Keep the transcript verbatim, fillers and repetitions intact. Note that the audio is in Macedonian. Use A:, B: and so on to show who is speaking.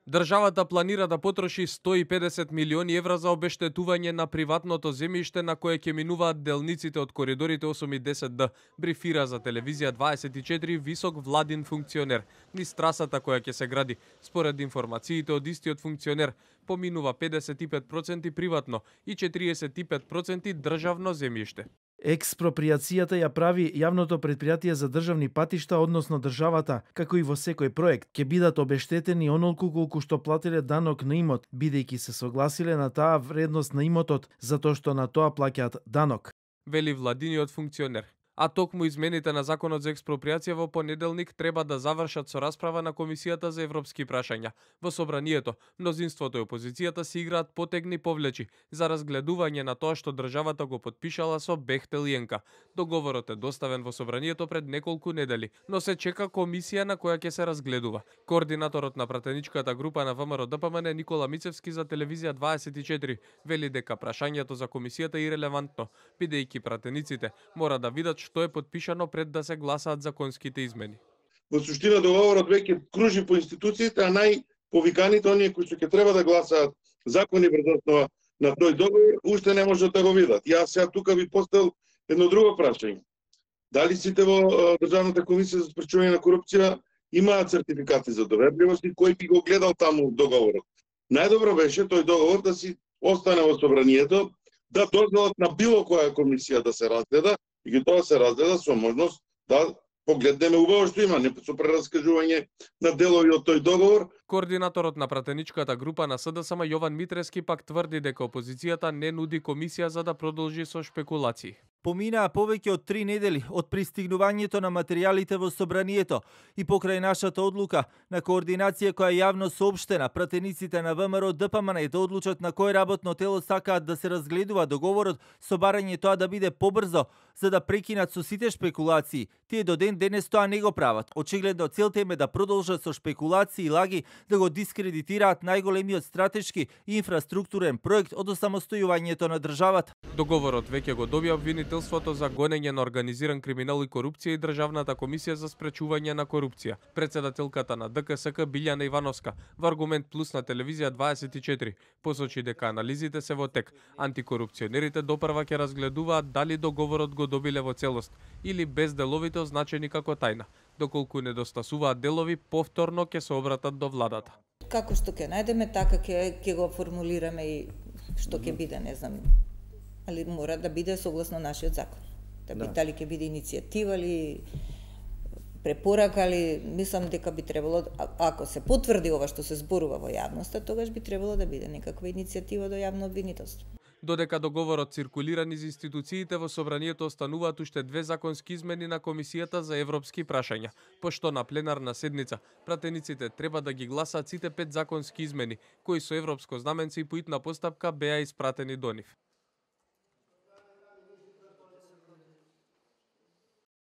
A: Државата планира да потроши сто и педесет милиони евра за обештетување на приватното земјиште на кое ќе минуваат делниците од коридорите осум и десет Д, брифира за телевизија дваесет и четири висок владин функционер низ трасата која ќе се гради. Според информациите од истиот функционер, поминува педесет и пет проценти приватно и четириесет и пет проценти државно земјиште.
B: Експроприацијата ја прави јавното предпријатие за државни патишта, односно државата, како и во секој проект, ќе бидат обештетени онолку колку што платиле данок на имот, бидејќи се согласиле на таа вредност на имотот, затоа што на тоа плаќаат данок.
A: Вели владиниот функционер. А токму измените на законот за експроприација во понеделник треба да завршат со расправа на Комисијата за европски прашања. Во собранието, мнозинството и опозицијата си играат потегни повлечи за разгледување на тоа што државата го потпишала со Бехтел и Енка. Договорот е доставен во собранието пред неколку недели, но се чека комисија на која ќе се разгледува. Координаторот на пратеничката група на ВМРО Д П М Н Никола Мицевски за телевизија дваесет и четири вели дека прашањето за комисијата е ирелевантно, бидејќи пратениците мора да видат што е потпишано пред да се гласаат законските измени.
C: Во суштина договорот веќе кружи по институциите, а најповиканите оние кои што ќе треба да гласаат закони врз основа на тој договор, уште не можат да го видат. Јас сега тука би поставил едно друго прашање. Дали сите во Државната комисија за спречување на корупција имаат сертификати за доверливост и кој би го гледал таму договорот? Најдобро беше тој договор да си остане во собранието, да дозволат на било која комисија да се разгледа, и тоа се разгледа со можност да погледнеме убаво што има, не со прераскажување на делови од тој договор.
A: Координаторот на пратеничката група на С Д С М Јован Митрески пак тврди дека опозицијата не нуди комисија за да продолжи со шпекулации.
D: Поминаа повеќе од три недели од пристигнувањето на материјалите во собранието и покрај нашата одлука на координација која јавно соопштена, пратениците на ВМРО Д П М Н да одлучат на кој работно тело сакаат да се разгледува договорот со барање тоа да биде побрзо за да прекинат со сите шпекулации. Тие до ден денес тоа не го прават. Очигледно целта им е да продолжат со шпекулации и лаги да го дискредитираат најголемиот стратешки и инфраструктурен проект од осамостојувањето на државата.
A: Договорот веќе го добија обвинителството за гонење на организиран криминал и корупција и Државната комисија за спречување на корупција. Председателката на Д К С К Билјана Ивановска во Аргумент Плюс на телевизија дваесет и четири посочи дека анализите се во тек. Антикорупционерите допрва ќе разгледуваат дали договорот го добиле во целост или без деловите означени како тајна. Доколку недостасуваат делови, повторно ќе се обратат до владата.
E: Како што ќе најдеме, така ќе ќе го формулираме и што ќе биде, не знам, али мора да биде согласно нашиот закон. Да би, да. Дали ќе биде иницијатива или препорака, али мислам дека би требало, ако се потврди ова што се зборува во јавноста, тогаш би требало да биде некаква иницијатива до јавно обвинителство.
A: Додека договорот циркулира низ институциите, во собранието остануваат уште две законски измени на Комисијата за европски прашања, пошто на пленарна седница пратениците треба да ги гласаат сите пет законски измени, кои со европско знаменце и по итна постапка беа испратени до нив.